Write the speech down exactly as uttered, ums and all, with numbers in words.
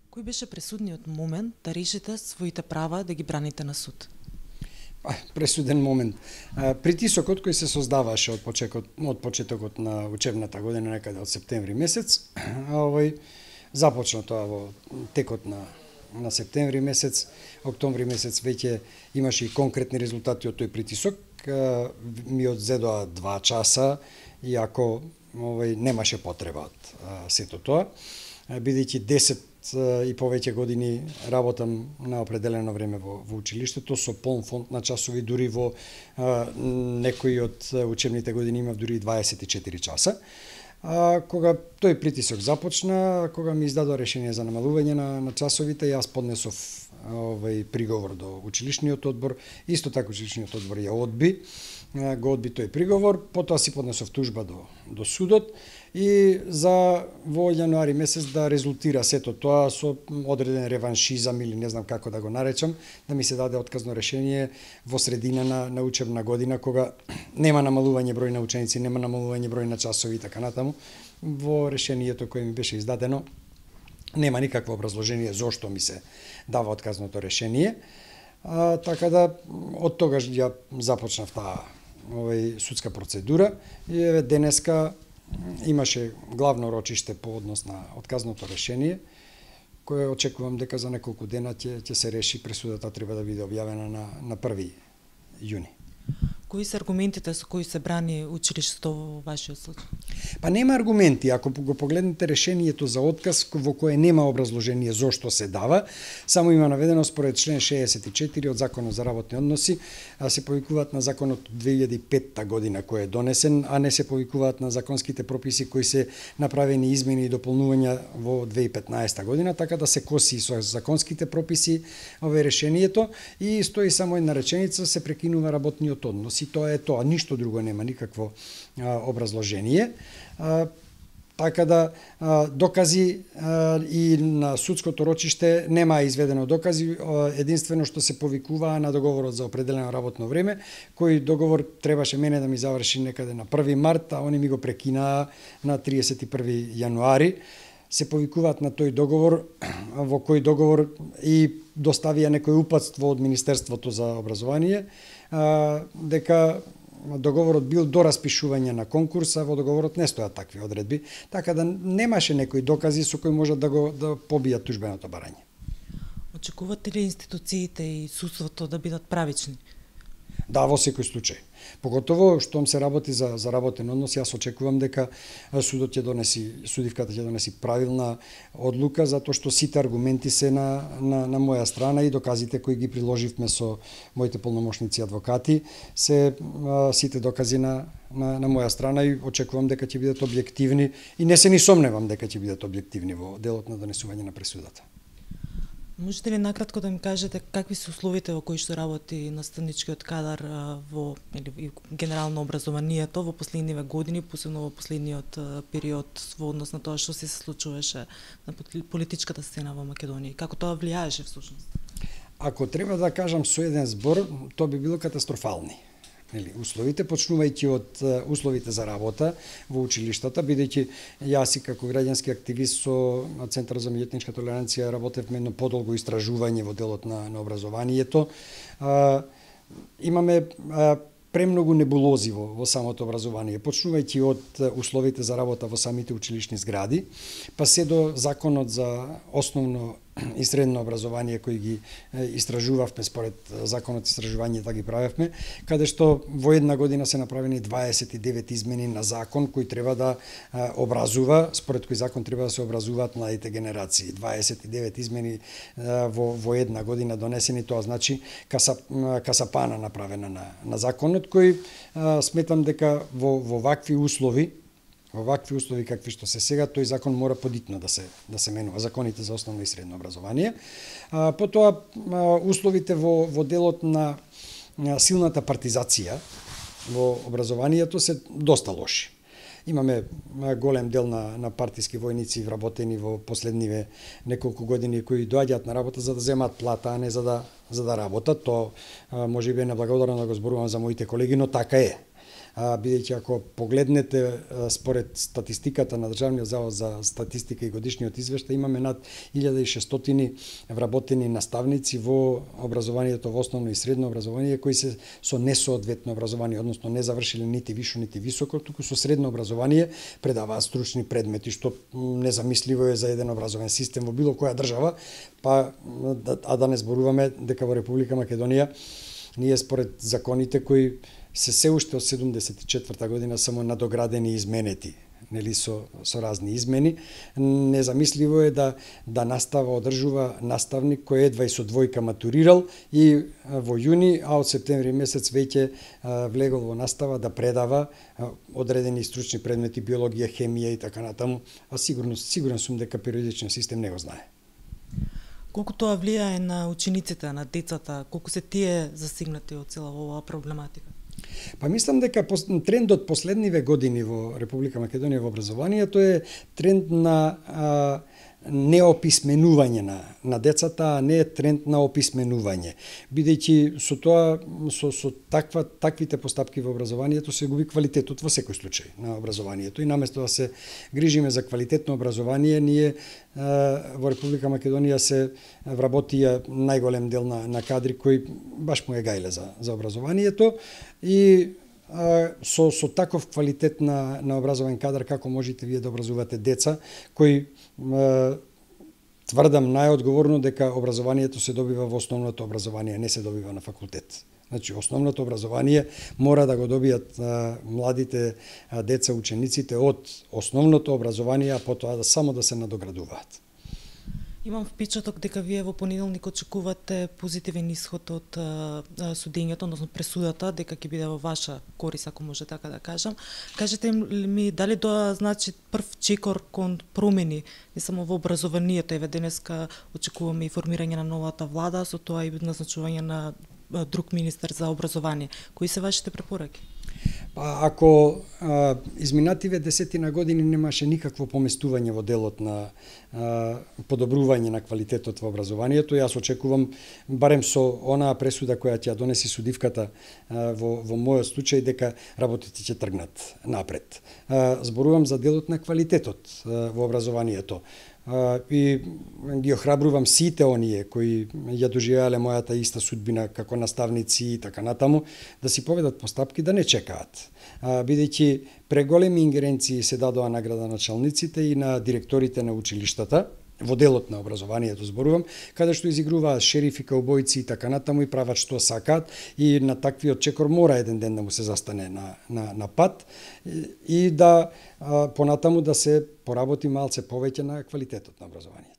Кој беше пресудниот момент да решите своите права да ги браните на суд? Пресуден момент. Притисокот кој се создаваше од почетокот, од почетокот на учебната година, некаде од септември месец, овој започна тоа во текот на на септември месец, октомври месец веќе имаше и конкретни резултати од тој притисок. Ми одзедоа два часа, иако овој немаше потреба од сето тоа, бидејќи десет и повеќе години работам на определено време во, во училиштето со полн фонд на часови, дури во а, некои од учебните години имав дури дваесет и четири часа. А, кога тој притисок започна, кога ми издадоа решение за намалување на, на часовите, јас поднесов овој приговор до училишниот одбор, исто така училишниот одбор ја одби, го одби тој приговор, потоа си поднесов тужба до, до судот и за во јануари месец да резултира сето тоа со одреден реваншизам или не знам како да го наречам, да ми се даде отказно решение во средина на, на учебна година, кога нема намалување број на ученици, нема намалување број на часови и така натаму. Во решението кое ми беше издадено нема никакво образложение зошто ми се дава отказното решение. А, така да од тогаш ја започнав таа овој судска процедура и еве денеска имаше главно рочиште по однос на отказното решение, кое очекувам дека за неколку дена ќе ќе се реши. Пресудата треба да биде објавена на на први јуни. Кои се аргументите со кои се брани училиштето во вашиот случај? Па нема аргументи, ако го погледнете решението за отказ во кое нема образложение зошто се дава, само има наведено според член шеесет и четири од Законот за работни односи, а се повикуваат на законот од две илјади и петта година кој е донесен, а не се повикуваат на законските прописи кои се направени измени и дополнувања во две илјади и петнаесета година, така да се коси со законските прописи ове решението и стои само една реченица: се прекинува работниот однос. И тоа е тоа, ништо друго нема, никакво а, образложение. А, така да а, докази а, и на судското рочиште нема изведено докази, а, единствено што се повикуваа на договорот за определено работно време, кој договор требаше мене да ми заврши некаде на први март, а они ми го прекинаа на триесет и први јануари. Се повикуваат на тој договор, во кој договор и доставија некој упатство од Министерството за образование, а, дека договорот бил до распишување на конкурс, а во договорот не стојат такви одредби, така да немаше некои докази со кои можат да го да побијат тужбеното барање. Очекувате ли институциите и судството да бидат правични? Да, во секој случај. Поготово штом се работи за за работен однос, јас очекувам дека судот ќе донеси, судивката ќе донеси правилна одлука, затоа што сите аргументи се на на на моја страна и доказите кои ги приложивме со моите полномошници адвокати се а, сите докази на на на моја страна и очекувам дека ќе бидат објективни и не се ни сомневам дека ќе бидат објективни во делот на донесување на пресудата. Можете ли накратко да ми кажете какви се условите во кои што работи наставничкиот кадар во или генерално образованието во последниве години, посебно во последниот период во однос на тоа што се случуваше на политичката сцена во Македонија? Како тоа влијаеше всушност? Ако треба да кажам со еден збор, тоа би било катастрофални. Нели, условите, почнувајќи од условите за работа во училиштата, бидејќи јас и како граѓански активист со Центар за меѓуетничка толеранција работевме едно подолго истражување во делот на, на образованието. А, имаме а, премногу небулози во, во самото образование, почнувајќи од условите за работа во самите училишни згради, па се до законот за основно и средно образование кои ги истражувавме според законот истражување да ги правевме, каде што во една година се направени дваесет и девет измени на закон кој треба да образува, според кој закон треба да се образуваат младите генерации. дваесет и девет измени во во една година донесени, тоа значи каса, касапана направена на на законот кој сметам дека во во вакви услови Во вакви услови какви што се сега, тој закон мора подитно да се да се менува, законите за основно и средно образование. А, потоа а, условите во во делот на, на силната партизација во образованието се доста лоши. Имаме голем дел на на партиски војници вработени во последниве неколку години кои доаѓаат на работа за да земаат плата, а не за да за да работат. Тоа можеби е неблагодарно да го зборувам за моите колеги, но така е. бидејќи ако погледнете според статистиката на Државниот завод за статистика и годишниот извештај, имаме над илјада и шестстотини вработени наставници во образованието, во основно и средно образование, кои се со несоодветно образование, односно не завршиле нити вишо, нити високо, туку со средно образование предаваат стручни предмети, што незамисливо е за еден образовен систем во било која држава, па а да не зборуваме дека во Република Македонија ние според законите кои се се уште од седумдесет и четврта година само надоградени и изменети, нели со со разни измени, незамисливо е да да настава одржува наставник кој едва и со двојка матурирал и во јуни, а од септември месец веќе влегол во настава да предава одредени стручни предмети, биологија, хемија и така натаму, а сигурно сигурен сум дека периодичниот систем не го знае. Колку тоа влијае на учениците, на децата, колку се тие засегнати од цела оваа проблематика? Па мислам дека трендот последниве години во Република Македонија во образованието е тренд на а, неописменување на, на децата, а не е тренд на описменување. Бидејќи со тоа, со, со таква, таквите постапки во образованието се губи квалитетот во секој случај на образованието. И наместо да се грижиме за квалитетно образование, ние а, во Република Македонија се вработија најголем дел на, на кадри кои баш му е гајле за, за образованието. И а, со, со таков квалитет на, на образован кадар, како можете вие да образувате деца, кои а, тврдам најодговорно дека образованието се добива во основното образование, не се добива на факултет. Значи, основното образование мора да го добијат а, младите а, деца, учениците од основното образование, а потоа да само да се надоградуваат. Имам впечаток дека вие во понеделник очекувате позитивен исход од а, судењето, односно пресудата, дека ќе биде во ваша корис, ако може така да кажам. Кажете ми, дали тоа значи прв чекор кон промени, не само во образованието, еве денеска очекуваме и формирање на новата влада, со тоа и назначување на друг министер за образование. Кои се вашите препораки? Па ако а, изминативе десетина години немаше никакво поместување во делот на а, подобрување на квалитетот во образованието, јас очекувам барем со онаа пресуда која ќе ја донеси судивката а, во во мојот случај дека работите ќе тргнат напред. А, зборувам за делот на квалитетот а, во образованието. Uh, и ги охрабрувам сите оние кои ја доживеале мојата иста судбина како наставници и така натаму, да си поведат постапки, да не чекаат. Uh, бидејќи преголеми ингеренции се дадоа награда на началниците и на директорите на училиштата, во делот на образованието зборувам, каде што изигруваат шерифи, каубојци и така натаму и прават што сакаат, и на таквиот чекор мора еден ден да му се застане на, на, на пат и, и да а, понатаму да се поработи малце повеќе на квалитетот на образованието.